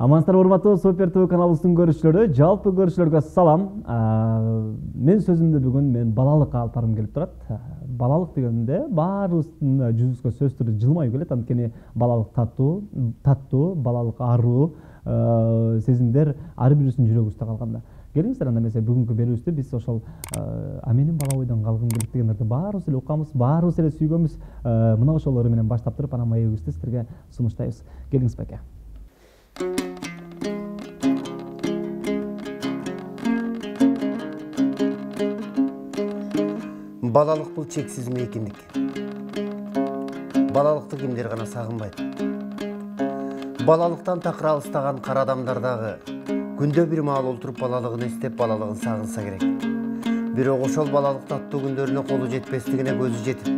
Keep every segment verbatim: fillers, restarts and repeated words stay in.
Амансыздар урматтуу Супер ТВ каналыбыздын көрүүчүлөрү, жалпы көрүүчүлөргө салам. Мен сөзүмдү бүгүн мен балалыкка алып баргым келип турат. Балалык дегенде баарыбыздын жүзүбүзгө сөзсүз түрдө жылмайып келет. Анткени балалык таттуу, таттуу, балалык аруу сезимдер ар бирибиздин жүрөгүбүздө калганда. Келиңиздер анда эмесе бүгүнкү берүүбүздү биз ошол а менин бала бойдон калгым келет дегендерди баарыбыз эле укканбыз, баарыбыз эле сүйгөнбүз. Мына ошолору менен баштап туруп анан маегибизди сиздерге сунуштайбыз. Келиңиз беке. Балалык бул чексиз мейкиндик. Балалыкты кимдер гана сагынбайт. Балалыктан такыр алыстаган кара адамдар дагы күндө бир маал олтуруп балалыгын эстеп, балалыгын сагынса керек. Бирок ошол балалык таттуу күндөрүнө колу жетпестигине көзү жетип,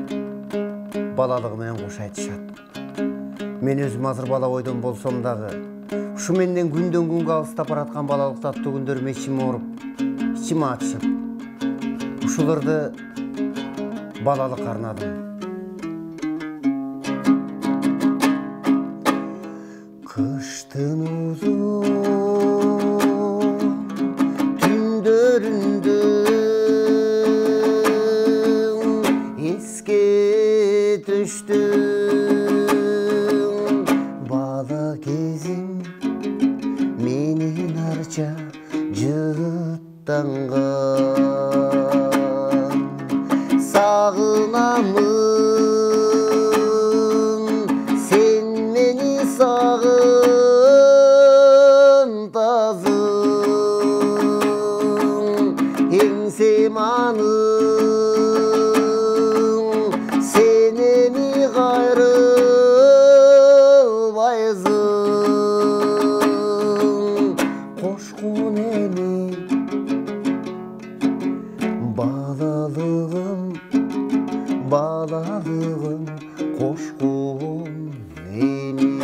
балалыгы менен кош айтышат. Мен өзүм азыр бала бойдон болсом дагы, ушу менден күндөн күнгө алыстап бараткан балалык таттуу күндөрүм ичим ооруп, ичим ачышып, ушуларды балалык арнадым. Кыштын узун түндөрүндө эске түштүм бала кезим менин арча жыттанган. Сагынамын сен мени сагын тазым эңсем аным сен эми кайрылбайсың кошкун эми балалыгым балалыгым кошкун энем.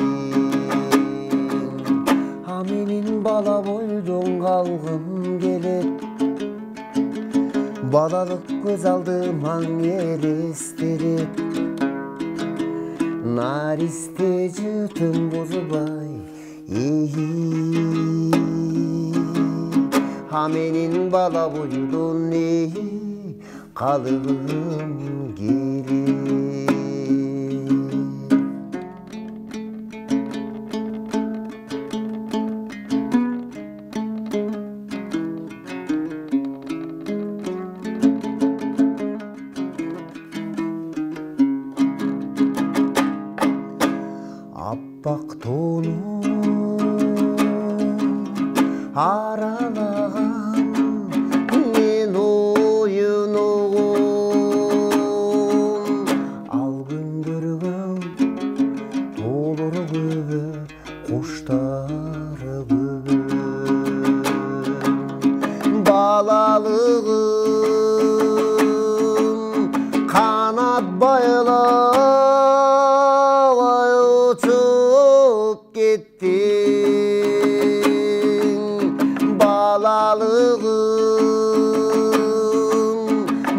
А менин бала бойдон калгым келет, балалык көз алдыман элестелет. Наристе жытым бузубай, а менин бала бойдон калгым келет. Аппак тоону аралаган мен оюнугум ал күндөргө толору көбө куштары көбө. Балалыгым канат байлабай учуп кеттиң. Балалыгым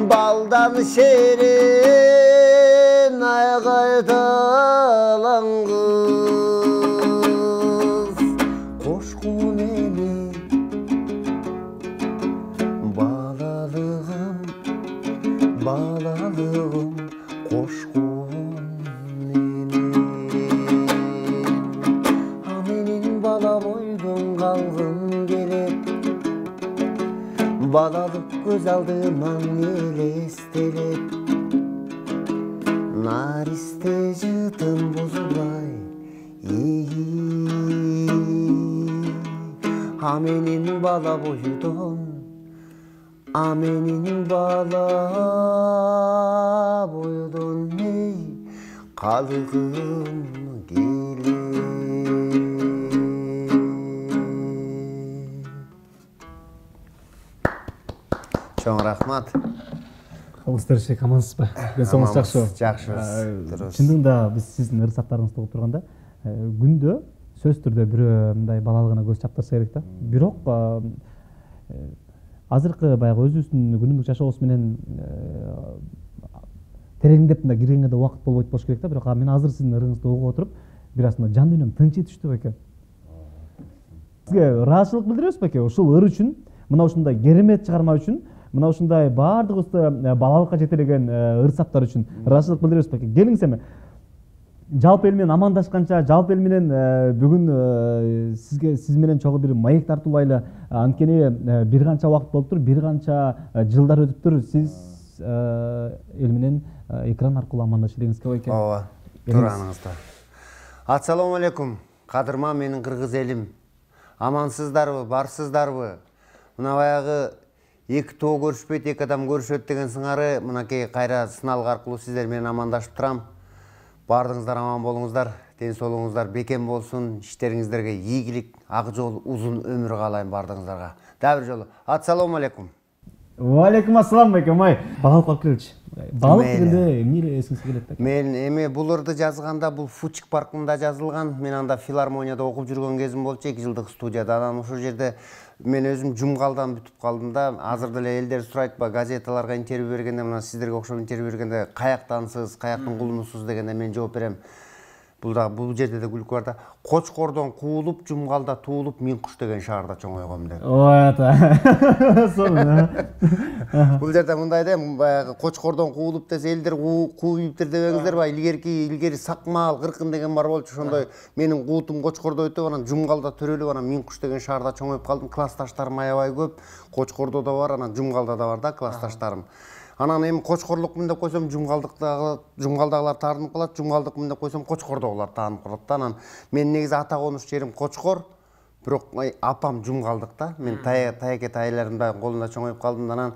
балдан шерен айгайталан кыз кошкун эми балалыгым балалыгым кошкун эми. А менин бала бойдон калгым келет, балалык көз алдыман элестелет. Наристе жытым бузулай, а менин бала бойдон, а менин бала бойдон калгым келет. Чоң рахмат. Калыңыздар эшек амансызбы? Көзүңүз жакшыбы? Жакшыбыз. Чындыгында биз сиздин ырсаттарыңызды угуп турганда күндө сөзсүз түрдө бирөө мындай балалыгына көз чаптырса керек да. Бирок азыркы баягы өзүбүздүн күнүмдүк жашообуз менен тереңдеп мындай киргенге да убакыт болбойт болуш керек да. Бирок мен азыр сиздин ырыңызды угуп отуруп бир аз жан дүйнөм тынчый түштү беке. Сизге ыраазычылык билдиребиз беке ушул ыр үчүн, мына ушундай керемет чыгарма үчүн, мына ушундай баардыгыбызды балалыкка жетелеген ыр саптар үчүн ыраазычылык билдиребиз беке. Келиңиз эми жалпы эл менен амандашканча, жалпы эл менен бүгүн сизге сиз менен чогуу бир маек тартуулайлы. Анткени бир канча убакыт болуптур, бир канча жылдар өтүптүр. Сиз эл менен экран аркылуу амандашып элеңизге болот экен. Ооба, тураныңызда. Ассаламу алейкум. Кадырма менин кыргыз элим. Амансыздарбы, барсыздарбы? Мына баягы эки тоо көрүшпөйт, эки адам көрүшөт деген сыңары мынакей кайра сыналык аркылуу сиздер менен амандашып турам. Бардыңыздар аман болуңуздар, ден соолугуңуздар бекем болсун, иштериңиздерге ийгилик, ак жол, узун өмүр каалайм бардыгыңыздарга. Дагы бир жолу ассаламу алейкум. Ва алейкум ассалам беке, май. Балалык алып келчи. Балалык дегенде эмне эле эсиңизге келет беке? Мен эми бул ырды жазганда бул Фучик паркында жазылган. Мен анда филармонияда окуп жүргөн кезим болчу, эки жылдык студияда. Анан ошол жерде мен өзүм жумгалдан бүтүп калдым да. Азыр деле элдер сурайт ба, газеталарга интервью бергенде, мына сиздерге окшоп интервью бергенде каяктансыз, каяктын кулунусуз дегенде мен жооп берем. Бул да бул жерде да күлкү бар да. Кочкордон куулуп, жумгалда туулуп, Мин куш деген шаарда чоңойгом деп. Ой ата. Сонун. Бул жерде мындай да, баягы Кочкордон куулуп десе элдер кууйуптур дебеңиздер ба? Илгерки илгери Сакмаал, Кыркын деген бар болчу. Ошондой менин куутум Кочкордо өтүп, анан жумгалда төрөлүп, анан Мин куш деген шаарда чоңоюп калдым. Классташтарым аябай көп. Кочкордо да бар, анан жумгалда да бар да классташтарым. Анан эми Кочкорлукмун деп койсом, жумгалдыктагы жумгалдагылар таарынып калат, жумгалдыкмын деп койсом, Кочкордогулар таанып калат да. Анан мен негизи ата конуш жерим Кочкор, бирок апам жумгалдыкта. Мен таяке тайларымдын колунда чоңоюп калдым. Анан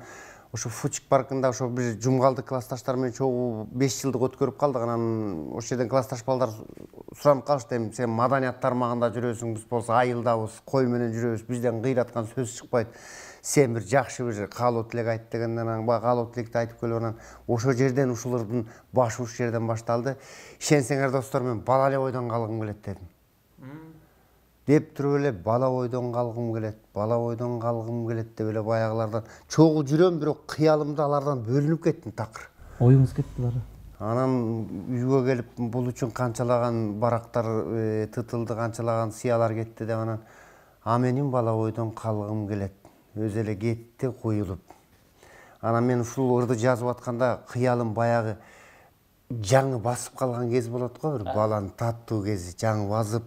ошо Фучик паркында ошо бир жумгалдык классташтар менен чогуу беш жылдык өткөрүп калдык. Анан ошол жерден классташ балдар суранып калышты, эми сен маданият тармагында жүрөсүң, биз болсо айылдабыз, кой менен жүрөбүз, бизден кыйраткан сөз чыкпайт. Сен бир жакшы бир каалоо тилек айт дегенден, анан баягы каалоо тилекти айтып келип, анан ошол жерден ушулардын башы уш жерден башталды. Ишенсеңер достор, мен бала эле бойдон калгым келет дедим. Деп туруп эле бала бойдон калгым келет, бала бойдон калгым келет деп эле баягылардан чогуу жүрөм, бирок кыялымда алардан бөлүнүп кеттим такыр. Оюңуз кетти бары. Анан үйгө келип бул үчүн канчалаган барактар тытылды, канчалаган сыялар кетти деп, анан а менин бала бойдон калгым келет. Өзү эле кетти куюлуп. Анан мен ушул ырды жазып атканда кыялым баягы жаңы басып калган кез болот го, бир баланын таттуу кези, жаңы басып,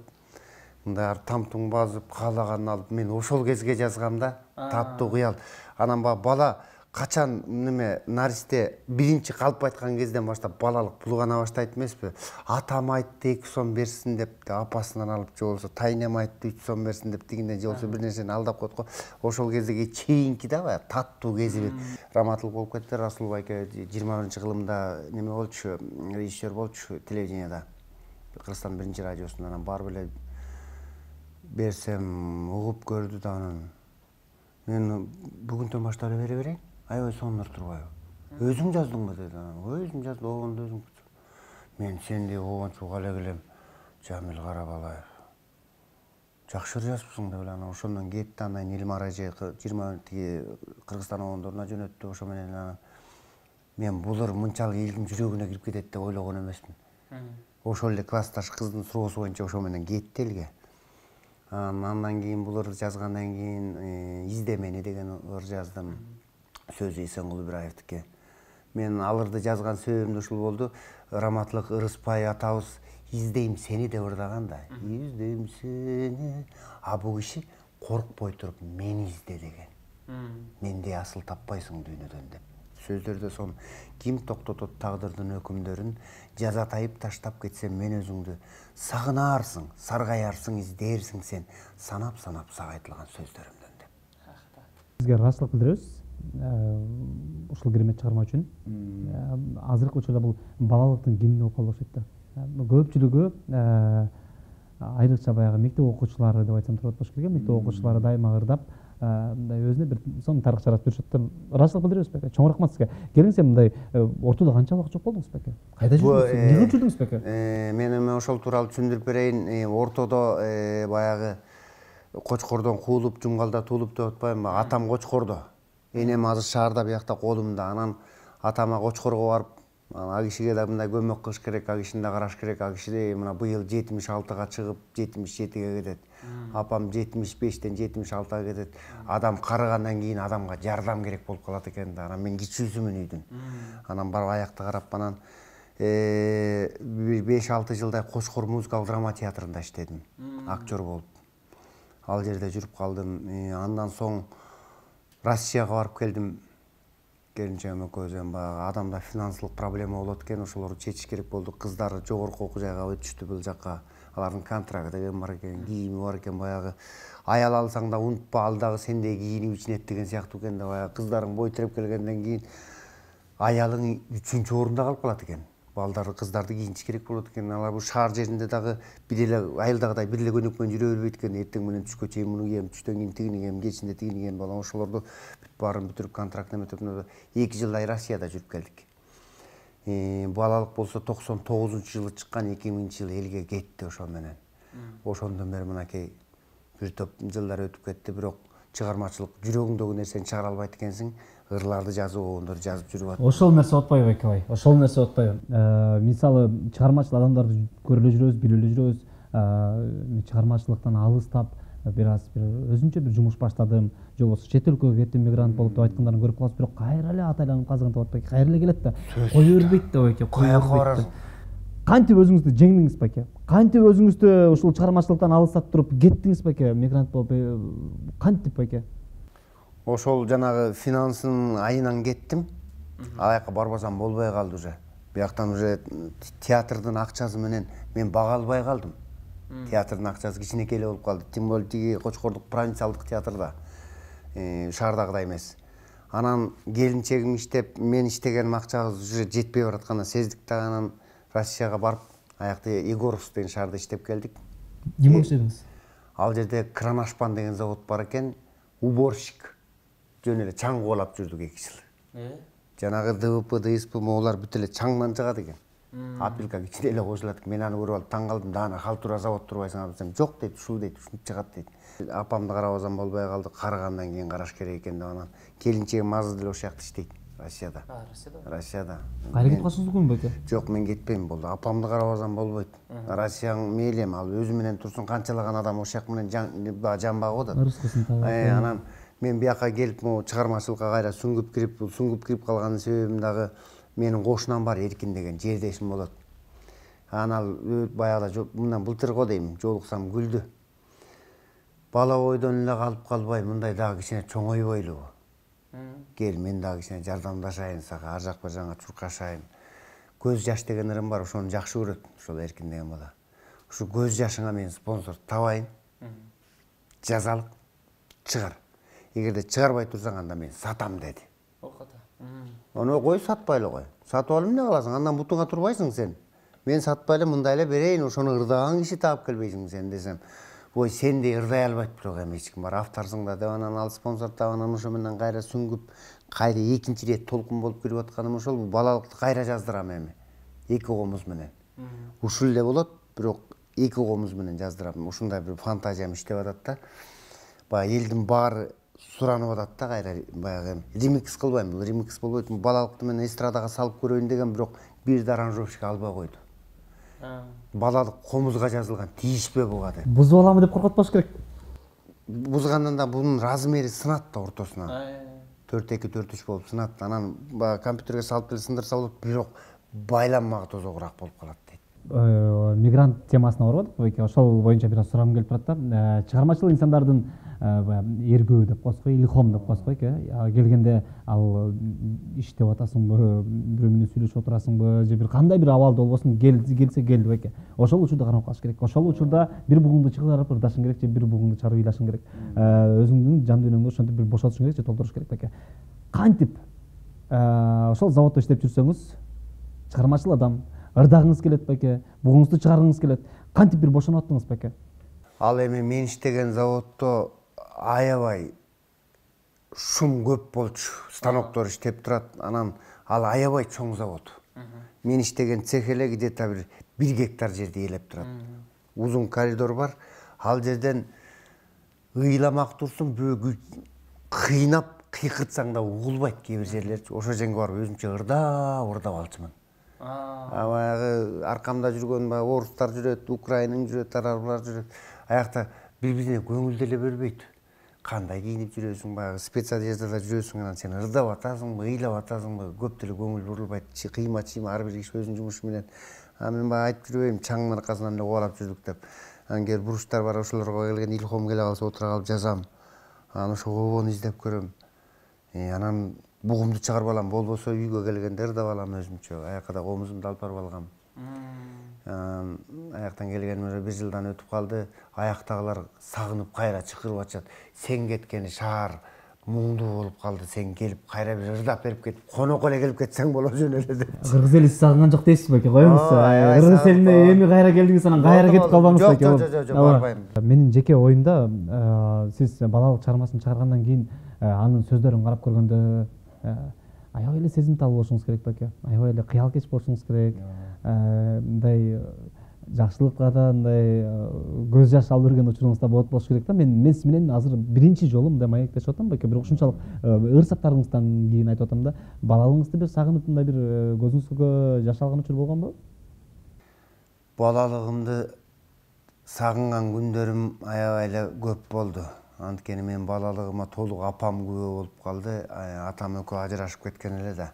мындай тамтуң басып, каалаганын алып, мен ошол кезге жазгам да, таттуу кыял. Анан бала качан неме наристе биринчи калп айткан кезден баштап балалык булгана баштайт эмеспи? Атам айтты эки сом берсин деп, апасынан алып, же болбосо тайнем айтты үч сом берсин деп, дегенде же болбосо бир нерсени алдап коет го. Ошол кезге чейинки да баягы таттуу кези бир раматылык болуп кетти. Расул байке жыйырма биринчи кылымда неме болчу, режиссер болчу телевиденияда. Кыргызстандын биринчи радиосунда. Анан барып эле берсем угуп көрдү да, анан мен бүгүнтөн баштап эле бере берейин. Аябай сонур турбайбы? Өзүң жаздыңбы деди. Өзүм жаздым, обондо өзүм. Мен сендей обончуга эле келем, Жамил Карабалаев. Жакшы жазыпсың деп эле, анан ошондон кетти. Андан кийин Илмар эже жыйырма тиги Кыргызстан обондоруна жөнөттү. Ошо менен анан мен бул ыр мынчалык элдин жүрөгүнө кирип кетет деп ойлогон эмесмин. Ошол эле классташ кыздын суроосу боюнча ошо менен кетти элге. Андан кийин бул ырды жазгандан кийин Изде мени деген ыр жаздым. Сөзү Эсенкул Ибраевдики. Мен ал ырды жазган себебим ушул болду. Раматылык Ырыспай атабыз издейм сени деп ырдаган да. Издейм сени. А бул киши коркпой туруп мени изде деген. Мендей асыл таппайсың дүйнөдөн деп. Сөздөрдө сон ким токтотот тагдырдын өкүмдөрүн, жазатайып таштап кетсем мен өзүңдү, сагынаарсың, саргайарсың, издээрсиң сен, санап-санап сагайтылган сөздөрүмдөн деп. Сизге ыраазычылык билдиребиз. Ушул керемет чыгарма үчүн. Азыркы учурда бул балалыктын кимиги болуп калды окшойт да. Көпчүлүгү айрыкча баягы мектеп окуучулары деп айтсам туура болуш керек. Мектеп окуучулары дайыма ырдап, мындай өзүнө бир сонун тарых жаратып жүрүшөт да. Ыраазычылык билдиребиз беке. Чоң рахмат сизге. Келиңиз, мындай ортодо канча убакыт жок болдуңуз беке? Кайда жүрдүңүз? Эмне кылып жүрдүңүз беке? Мен эми ошол тууралуу түшүндүрүп берейин. Ортодо баягы Кочкордон куулуп, жумгалда туулуп деп атпаймынбы? Атам Кочкордо. Энем азыр шаарда биякта колумда. Анан атама Кочкорго барып Ага кишиге да мындай көмөк кылыш керек, ага кишини да караш керек. Ага киши мына быйыл жетимиш алтыга чыгып, жетимиш жетиге кетет. Апам жетимиш бештен жетимиш алтыга кетет. Адам карыгандан кийин адамга жардам керек болуп калат экен да. Анан мен кичүүсүмүн үйдүн. Анан барып аякты карап анан бир беш алты жылдай Кочкор музыкалык драма театрында иштедим. Актер болуп. Ал жерде жүрүп калдым. Андан соң Россияга барып келдим. Келинчегим экөөбүз баягы адамда финансылык проблема болот экен, ошолорду чечиш керек болду. Кыздары жогорку окуу жайга өтүштү бул жакка. Алардын контракты деген бар экен, кийими бар экен, баягы аял алсаң да унутпа, ал дагы сендей кийинип ичинет деген сыяктуу экен да. Баягы кыздарың бой тиреп келгенден кийин аялың үчүнчү орунда калып калат экен. Балдарды, кыздарды кийинтиш керек болот экен. Алар бул шаар жеринде дагы бир эле айылдагыдай бир эле көйнөк менен жүрө бербейт экен. Эртең менен түшкө чейин муну кийем, түштөн кийин тигини кийем, кечинде тигини кийем. Балам ошолорду бүт баарын бүтүрүп контракт эметип эки жылдай Россияда жүрүп келдик. Балалык болсо токсон тогузунчу жылы чыккан, эки миңинчи жылы элге кетти ошол менен. Ошондон бери мынакей бир топ жылдар өтүп кетти, бирок чыгармачылык жүрөгүңдөгү нерсени чыгара албайт экенсиң. Ырларды жазып, ондорду жазып жүрүп атат. Ошол нерсе отпайбы эке бай? Ошол нерсе отпайбы? Мисалы, чыгармачыл адамдарды көрүп эле жүрөбүз, билип эле жүрөбүз. Чыгармачылыктан алыстап, бир аз бир өзүнчө бир жумуш баштадым, же болбосо чет өлкөгө кеттим, мигрант болуп деп айткандарын көрүп калабыз, бирок кайра эле атайланып казыгын таап атпайбы? Кайра эле келет да. Кое бербейт да эке, кое бербейт. Кантип өзүңүздү жеңдиңиз беке? Кантип өзүңүздү ушул чыгармачылыктан алыстап туруп кеттиңиз беке? Мигрант болуп кантип беке? Ошол жанагы финансын айынан кеттим. Аяка барбасам болбой калды уже. Бияктан уже театрдын акчасы менен мен бага албай калдым. Театрдын акчасы кичинекей эле болуп калды. Тем более тиги Кочкордук провинциалдык театрда. Шаардагыдай эмес. Анан келинчегим иштеп, мен иштеген акчабыз уже жетпей баратканын сездик да, анан Россияга барып, аякта Егоровск деген шаарда иштеп келдик. Эмне иштедиңиз? Ал жерде Кранашпан деген завод бар экен, уборщик. Жөн эле чаң кубалап жүрдүк эки жыл. Жанагы ДВП, ДСП моолар бүт эле чаңдан чыгат экен. Апилка кичине эле кошулат экен. Мен аны көрүп алып таң калдым. Даана халтура завод турбайсың десем, жок дейт, ушул дейт, ушинтип чыгат дейт. Апамды карабасам болбой калды, карыгандан кийин караш керек экен деп анан келинчегим азыр деле ошол жакта иштейт. Россияда. А, Россияда. Россияда. Кайра кетип калсаңыз мүмкүн беке? Жок, мен кетпейм болду. Апамды карабасам болбойт. Россияң мейли эми, ал өзү менен турсун, канчалаган адам ошол жак менен жан багып атат. Ырыскысын табат. Анан мен бияка келип, могу чыгармачылыкка кайра сүңгүп кирип, бул сүңгүп кирип калганын себебим дагы менин кошунам бар, Эркин деген жердешим болот. Анан ал баягыда мындан былтыр го дейм, жолуксам күлдү. Бала бойдон эле калып калбай, мындай дагы кичине чоңойбойлубу? Кел, мен дагы кичине жардамдашайын сага, ар жак бер жагыңа чуркашайын. Көз жаш деген ырым бар, ошону жакшы көрөт, ошол Эркин деген бала. Ушу көз жашыңа мен спонсор табайын. Жазалык, чыгар. Эгерде чыгарбай турсаң, анда мен сатам деди. Окото. Аны кой, сатпай эле кой. Сатып алып эмне кыласың? Андан бутуңа турбайсың сен. Мен сатпай эле мындай эле берейин, ошону ырдаган киши таап келбейсиң сен десем. Ой, сендей ырдай албайт бирок эми эч ким бар, авторсуң да деп анан ал спонсор таап анан ошо менен кайра сүңгүп, кайра экинчи ирет толкун болуп кирип атканым ошол, балалыкты кайра жаздырам эми. Эки комуз менен. Ушул эле болот, бирок эки комуз менен жаздырам. Ушундай бир фантазиям иштеп атат да. Баягы элдин баары суранып атат да, кайра баягы ремикс кылбайм. Бул ремикс болбойт. Балалыкты мен эстрадага салып көрөйүн деген, бирок бир да аранжировщик албай койду. Балалык комузга жазылган, тийишпе буга деп. Бузуп аламы деп коркотпош керек. Бузгандан да бунун размери сынат да ортосуна. төрт эки төрт үч болуп сынат. Анан баягы компьютерге салып деле сындырса болот, бирок байланмага тозогураак болуп калат дейт. Мигрант темасына барып атат, ошол боюнча бир аз сурагым келип турат да. Чыгармачыл инсандардын эргөө деп коебуз го, илхом деп коебуз го эке. Келгенде ал иштеп атасыңбы, бирөө менен сүйлөшүп отурасыңбы, же бир кандай бир абалда болбосун, келсе келди беке. Ошол учурда кармап калыш керек. Ошол учурда бир бугуңду чыгарып ырдашың керек, же бир бугуңду чыгарып ыйлашың керек. Өзүңдүн жан дүйнөңдү ошентип бир бошотушуң керек, же толтуруш керек беке. Кантип ошол заводдо иштеп жүрсөңүз, чыгармачыл адам, ырдагыңыз келет беке, бугуңузду чыгаргыңыз келет. Кантип бир бошонуп аттыңыз беке? Ал эми мен иштеген заводдо аябай шум көп болчу, станоктор иштеп турат. Анан ал аябай чоң завод. Мен иштеген цех эле где-то бир бир гектар жерди ээлеп турат. Узун коридор бар. Ал жерден ыйламак турсун, бөгү кыйнап кыйкыртсаң да угулбайт кээ бир жерлерчи. Ошол жерге барып өзүмчө ырдап ырдап алчумун. баягы аркамда жүргөн баягы орустар жүрөт, Украинан жүрөт, арабалар жүрөт. Аякта бири-бирине көңүл деле бербейт. Кандай кийинип жүрөсүң, баягы спецодеждада жүрөсүң, анан сен ырдап атасыңбы, ыйлап атасыңбы, көп деле көңүл бурулбайт. Кыйма-чыйма ар бир киши өзүнүн жумушу менен. Анан мен баягы айтып жүрбөйм, чаңдын аркасынан эле кубалап жүрдүк деп. Анан кээ буруштар бар, ошолорго келген илхом келе калса отура калып жазам. Анан ошо кобону издеп көрөм. Анан бугумду чыгарып алам, болбосо үйгө келгенде ырдап алам өзүмчө. Аякка да комузумду алып барып алгам. Аяктан келгениме бир жылдан өтүп калды. Аяктагылар сагынып кайра чакырып атышат. Сен кеткени шаар муңдуу болуп калды. Сен келип кайра бир ырдап берип кетип, конокко эле келип кетсең боло жөн эле деп. Кыргыз эли сагынган жок дейсиз беке, коюңуз. Кыргыз элине эми кайра келдиңиз, анан кайра кетип калбаңыз беке. Жок, жок, жок, барбайм. Менин жеке оюмда, сиз балалык чыгармасын чыгаргандан кийин анын сөздөрүн карап көргөндө аябай эле сезимтал болушуңуз керек беке. Аябай эле кыял кеч болушуңуз керек. Мындай жакшылыкка да мындай көз жаш алып жүргөн учуруңуз да болот болуш керек да. Мен мен сиз менен азыр биринчи жолу мындай маектешип атам беке. Бирок ушунчалык ыр саптарыңыздан кийин айтып атам да, балалыгыңызды бир сагынып мындай бир көзүңүзгө жаш алган учур болгонбу? Балалыгымды сагынган күндөрүм аябай эле көп болду. Анткени мен балалыгыма толук апам күбө болуп калды. Атам экөө ажырашып кеткен эле да.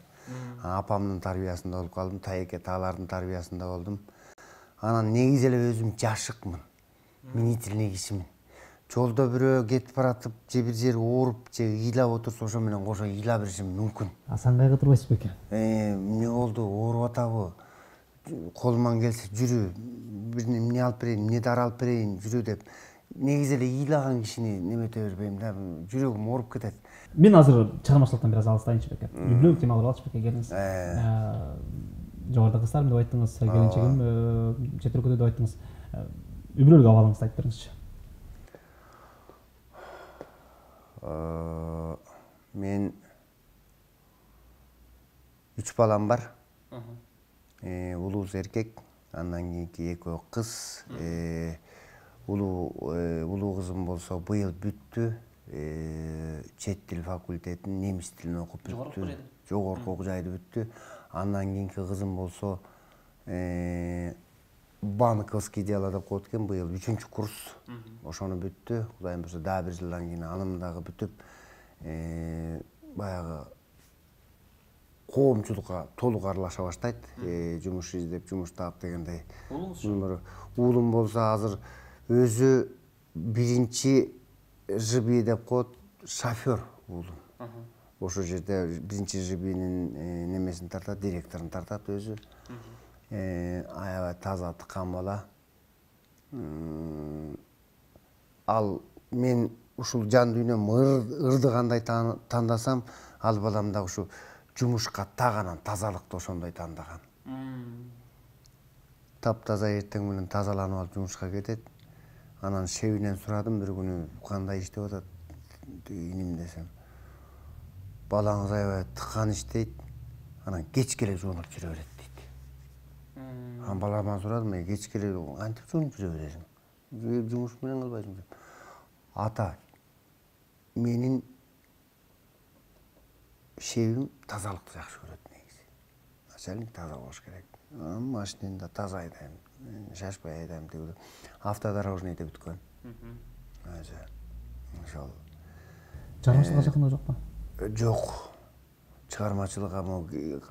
Апамдын тарбиясында болуп калдым, тайеке таалардын тарбиясында болдум. Анан негизи эле өзүм жашыкмын. Мнительный кишимин. Жолдо бирөө кетип баратып, же бир жери ооруп, же ыйлап отурса, ошо менен кошо ыйлап беришим мүмкүн. Асан кайгы турбайсыз беке? Эмне болду? Ооруп атабы? Колуман келсе жүрү, бир эмне алып берейин, эмне дары алып берейин, жүрү деп. Негизи эле ыйлаган кишини немете бербейм да, жүрөгүм ооруп кетет. Мен азыр чыгармачылыктан бир аз алыстайынчы беке. Үй бүлөлүк темалар алчы беке, келиңиз. Жогоруда кыздарым деп айттыңыз, келинчегим чет өлкөдө деп айттыңыз. Үй бүлөлүк абалыңызды айтып бериңизчи. Мен үч балам бар. Улуусу эркек, андан кийинки экөө кыз. Улуу кызым болсо быйыл бүттү. Чет тил факультетин, немис тилин окуп бүттү. Жогорку окуу жайды бүттү. Андан кийинки кызым болсо банковский дело деп коет экен, быйыл үчүнчү курс. Ошону бүттү. Кудайым буйрса дагы бир жылдан кийин анын дагы бүтүп, баягы коомчулукка толук аралаша баштайт. Жумуш издеп, жумуш таап дегендей. Уулум болсо азыр өзү биринчи жиби деп коет, шофер уулум. Ошол жерде биринчи жибинин немесин тартат, директорун тартат өзү. Аябай таза, тыккан бала. Ал мен ушул жан дүйнөм ырды кандай тандасам, ал балам да ушу жумушка так анан тазалыкты ошондой тандаган. Таптаза эртең менен тазаланып алып жумушка кетет. Анан шебинен сурадым бир күнү, кандай иштеп атат иним десем. Балаңыз аябай тыккан иштейт, анан кечке эле жуунуп жүрө берет дейт. Анан баламан сурадым, кечке эле кантип жуунуп жүрө бересиң? Жумуш менен кылбайсың деп. Ата, менин шебим тазалыкты жакшы көрөт негизи. Начальник таза болуш керек. Машинени да таза айдайм, шашпай айдайм деп. Автодорожныйда бүткөн. Ошол. Чыгармачылыкка жакындыгы жокпу? Жок. Чыгармачылыкка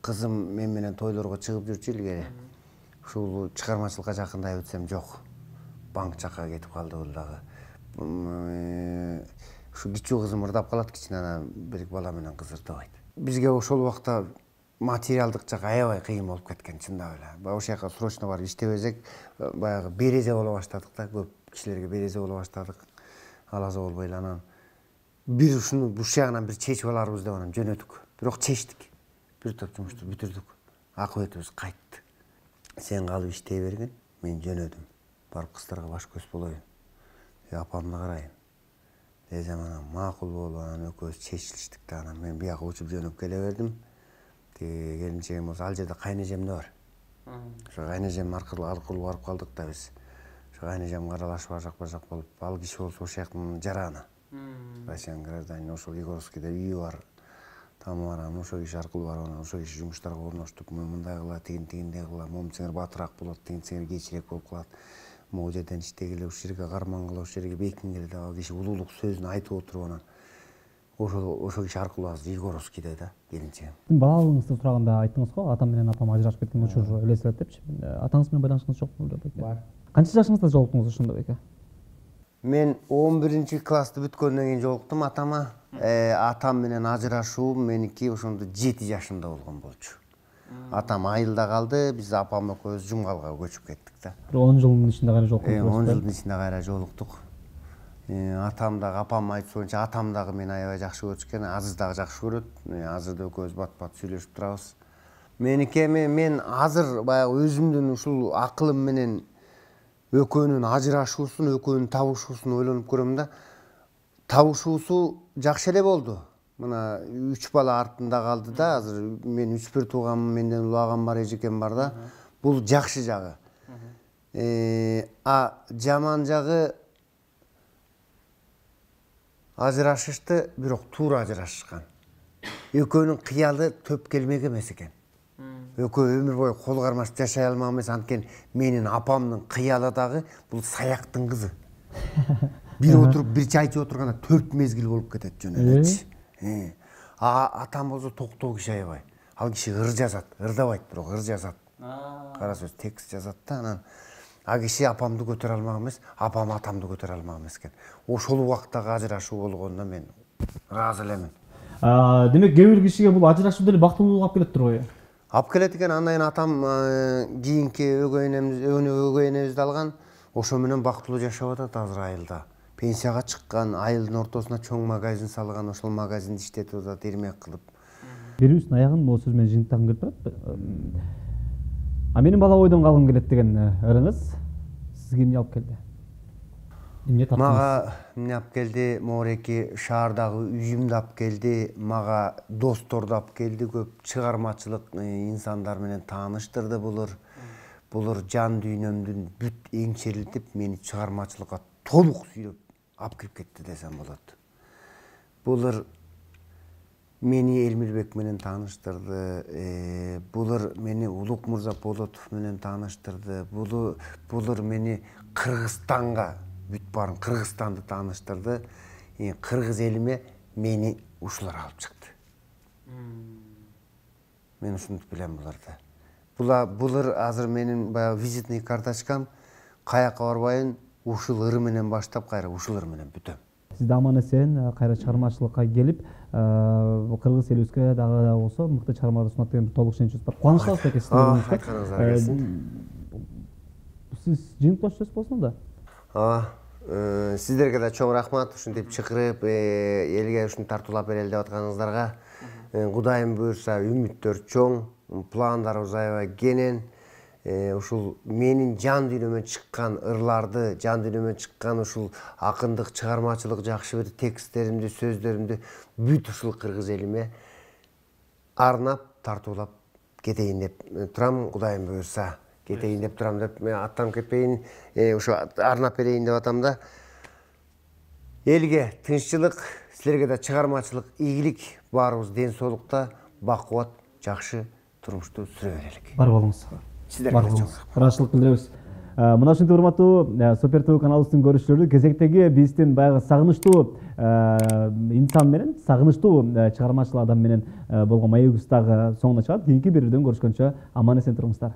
кызым мен менен тойлорго чыгып жүрчү илгери. Ушул чыгармачылыкка жакындай өтсөм жок. Банк жакка кетип калды бул дагы. Ушу кичүү кызым ырдап калат, кичине бир бала менен кыз ырдабайт. Бизге ошол убакта материалдык жак аябай кыйын болуп кеткен, чындап эле. Ошол жака срочно барып иштебесек, баягы березе боло баштадык да, көп кишилерге березе боло баштадык. Алаза болбой эле анан бир ушуну буш жагынан бир чечип аларбыз деп анан жөнөдүк. Бирок чечтик. Бир топ жумушту бүтүрдүк. Акыбетибиз кайтты. Сен калып иштей берген, мен жөнөдүм. Барып кыздарга баш көз болоюн. Апамды карайын. Десем анан макул болуп анан экөөбүз чечилиштик да, анан мен бияка учуп жөнөп келе бердим. Тиги келинчегим болсо ал жерде кайнежем да бар. Ошо кайнежем аркылуу аркылуу барып калдык да биз. Ошо кайнежем аралашып ажак бажак болуп, ал киши болсо ошол жактын жараны. Россиян гражданин, ошол Егоровскийде үйү бар. ама анан ошол киши аркылуу барып анан ошол киши жумуштарга орноштуп, мен мындай кылат, тигин тигиндей кылам, момун сеңер батыраак болот, тигин сеңер кечирээк болуп калат. Могу жерден иштегиле, ушул жерге кармангыла, ушул жерге бекингиле деп ал киши улуулук сөзүн айтып отуруп анан ошол ошол киши аркылуу азыр Егоровскийде да келинчегим. Балалыгыңызды сураганда айттыңыз го, атам менен апам ажырашып кеткен учур элестет депчи. Атаңыз менен байланышыңыз жокпу беле байке? Бар. Канча жашыңызда жолуктуңуз ошондо байке? Мен он биринчи классты бүткөндөн кийин жолуктум атама. Атам менен ажырашуум меники ошондо жети жашымда болгон болчу. Атам айылда калды, биз апам экөөбүз Жумгалга көчүп кеттик да. Бир он жылдын ичинде кайра жолуктук. он жылдын ичинде кайра жолуктук. Атам дагы апам айтуусунча атам дагы мени аябай жакшы көрүшкөн, Азыз дагы жакшы көрөт. Азыр да экөөбүз бат-бат сүйлөшүп турабыз. Меники эми мен азыр баягы өзүмдүн ушул акылым менен экөөнүн ажырашуусун, экөөнүн табышуусун ойлонуп көрөм да. Табышуусу жакшы эле болду. Мына үч бала артында калды да, азыр мен үч бир тууганмын, менден улааган бар, эжекем бар да. Бул жакшы жагы. А жаман жагы ажырашышты, бирок туура ажырашышкан. Экөөнүн кыялы төп келмек эмес экен. Экөө өмүр бою кол кармашып жашай алмак эмес, анткени менин апамдын кыялы дагы бул саяктын кызы. Бир отуруп, бир чай ичип отурганда төрт мезгил болуп кетет жөн элечи. А атам болсо токтоо киши аябай. Ал киши ыр жазат, ырдабайт, бирок ыр жазат. Кара сөз текст жазат да, анан а киши апамды көтөрө алмак эмес, апам атамды көтөрө алмак эмес экен. Ошол убактагы ажырашуу болгондо мен ыраазы элемин. Демек кээ бир кишиге бул ажырашуу деле бактылуулук алып келет турбайбы? Алып келет экен. Андан атам кийинки өгөй энемиз, өгөй энебизди алган. Ошо менен бактылуу жашап атат азыр айылда. Пенсияга чыккан, айылдын ортосуна чоң магазин салган, ошол магазинди иштетип атат, ирмек кылып. Бирибиздин аягын могу сөз менен жыйынтагым келип турат. А менин бала бойдон калгым келет деген ырыңыз сизге эмне алып келди? Эмне таптыңыз? Мага эмне алып келди? Моореки шаардагы үйүмдү алып келди, мага досторду алып келди, көп чыгармачылык инсандар менен тааныштырды булар. Булар жан дүйнөмдүн бүт эңчерилтип, мени чыгармачылыкка толук сүйрөп алып кирип кетти десем болот. Булар мени Элмирбек менен тааныштырды, булар мени Улук мырза Болотов менен тааныштырды, булар мени Кыргызстанга, бүт баарын Кыргызстанды тааныштырды. Кыргыз элиме мени ушулар алып чыкты. Мен ушинтип билем буларды. Булар азыр менин баягы визитный карточкам, каяка барбайын, ушул ыр менен баштап кайра ушул ыр менен бүтөм. Сиз да аман эсен кайра чыгармачылыкка келип, кыргыз элибизге дагы болсо мыкты чыгармалар сунат деген толук ишеничибиз бар. Кубанычтабыз экен сиздерге. Айтканыңыздар келсин. Сиз жыйынтыктоочу болсоң да. Ооба. Сиздерге да чоң рахмат, ушинтип чакырып, элге ушуну тартуулап берели деп атканыңыздарга. Кудайым буйрса, үмүттөр чоң, пландарыбыз аябай кенен. Ушул менин жан дүйнөмөн чыккан ырларды, жан дүйнөмөн чыккан ушул акындык, чыгармачылык, жакшы бир тексттеримди, сөздөрүмдү бүт ушул кыргыз элиме арнап, тартуулап кетейин деп турам. Кудайым буйрса, кетейин деп турам деп, мен аттанып кетпейин, ушу арнап берейин деп атам да. Элге тынччылык, силерге да чыгармачылык, ийгилик, баарыбыз ден соолукта, бакубат, жакшы турмушту сүрө берелик. Бар болуңуз. Сиздерге да чоң ыраазычылык билдиребиз. Мына ушинтип урматтуу Супер ТВ каналыбыздын көрүүчүлөрү, кезектеги биздин баягы сагынычтуу инсан менен, сагынычтуу чыгармачыл адам менен болгон маегибиз дагы соңуна чыгат. Кийинки берүүдөн көрүшкөнчө аман эсен туруңуздар.